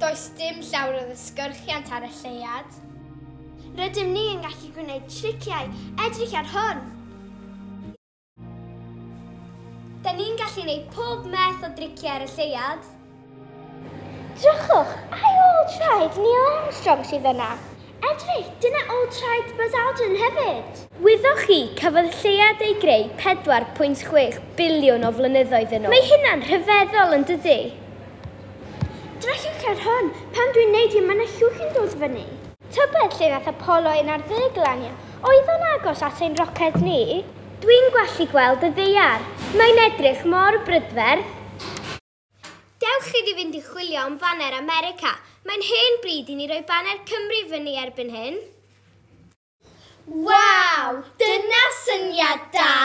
Does dim llawer o ddisgyrchiant ar y lleuad. Rydym ni yn gallu gwneud triciau. Edrych ar hwn! Da ni'n gallu gwneud pob math o driciau ar y lleuad. Drychwch, ai ôl traed Neil Armstrong sydd yna? Edrych, dyna ôl traed Buzz Aldrin hefyd. Wyddoch chi, cafodd y lleuad ei greu 4.6 biliwn o flynyddoedd yn ôl. Mae hynna'n rhyfeddol yn dydy? Drychwch ar hwn, pan dwi'n neud hyn mae yna llwch yn dod fyny. Tybed lle nath Apollo 11 lanio? Oedd o'n agos at ein roced ni? Dwi'n gallu gweld y ddaear. Mae'n edrych mor brydferth. Dewch i ni fynd i chwilio am faner America. Mae'n hen bryd i ni roi baner Cymru fyny erbyn hyn. Waw! Dyna syniad da!